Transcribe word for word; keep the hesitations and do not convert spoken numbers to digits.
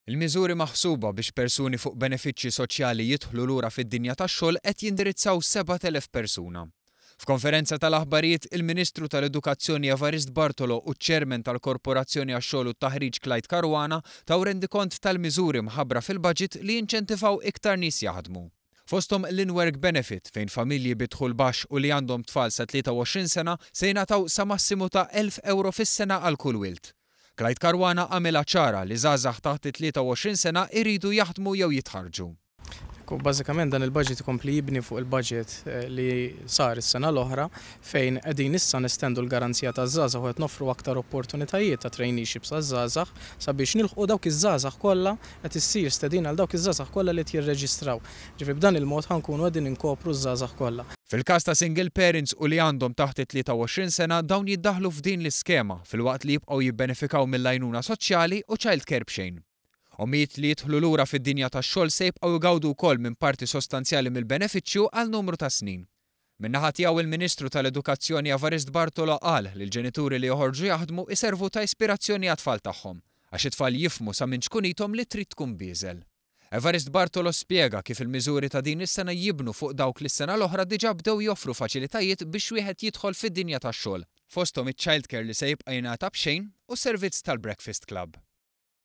Il-miżuri maħsuba biex persuni fuq benefiċċji soċjali jidħlu lura fid-dinja tax-xogħol qed jindirizzaw sebat elef persuna. F'konferenza tal-aħbarijiet, il-Ministru tal-Edukazzjoni Evarist Bartolo u ċ-Chairman tal-Korporazzjoni għax-Xogħol u t-Taħriġ Clyde Caruana taw rendikont tal-miżuri mħabbra fil-budget li jinċentivaw iktar nies jaħdmu. Fosthom l-in-work benefit, fejn familji bi dħul baxx u li għandhom tfal sa tlieta u għoxrin sena se jingħataw sa massimu ta' elf euro fis-sena għal kull wild. Clyde Caruana għamilha ċara li żgħażagħ taħt tlieta u għoxrin sena iridu jaħdmu jew jitħarġu. Bażikament dan il-budget ikompli jibni fuq il-budget eh, li sar is-sena l-oħra, fejn qegħdin issa nestendu l-garanzija taż-żgħażagħ u qed noffru aktar opportunitajiet ta' traineeships għaż-żgħażagħ sabiex nilħqu dawk iż-żgħażagħ kollha. Qed issir stedina għal dawk iż-żgħażagħ kollha li jirreġistraw. Ġifieri b'dan il-mod ħa nkunu qegħdin inkopru ż-żgħażagħ kollha. Fil-każ ta' single parents u li għandhom taħt tlieta u għoxrin sena, dawn jiddaħlu f'din l-iskema filwaqt li jibqgħu jibbenefikaw mill-għajnuna soċjali u child care b'xejn. Ommijiet li jidħlu lura fid-dinja tax-xogħol se jibqgħu jgawdu wkoll minn parti sostanzjali mill-benefiċċju għal numru ta' snin. Min-naħa tiegħu, il-Ministru tal-Edukazzjoni Evarist Bartolo qal li l-ġenituri li joħorġu jaħdmu iservu ta' ispirazzjoni għat-tfal tagħhom, għax it-tfal jifhmu sa minn ċkunithom li trid tkun bieżel. Evarist Bartolo spjega kif il-miżuri ta' din is-sena jibnu fuq dawk li s-sena l-oħra diġà bdew joffru faċilitajiet biex wieħed jidħol fid-dinja tax-xogħol. Fosthom iċ-childcare li se jibqa' jingħata b'xejn u servizz tal-Breakfast Club.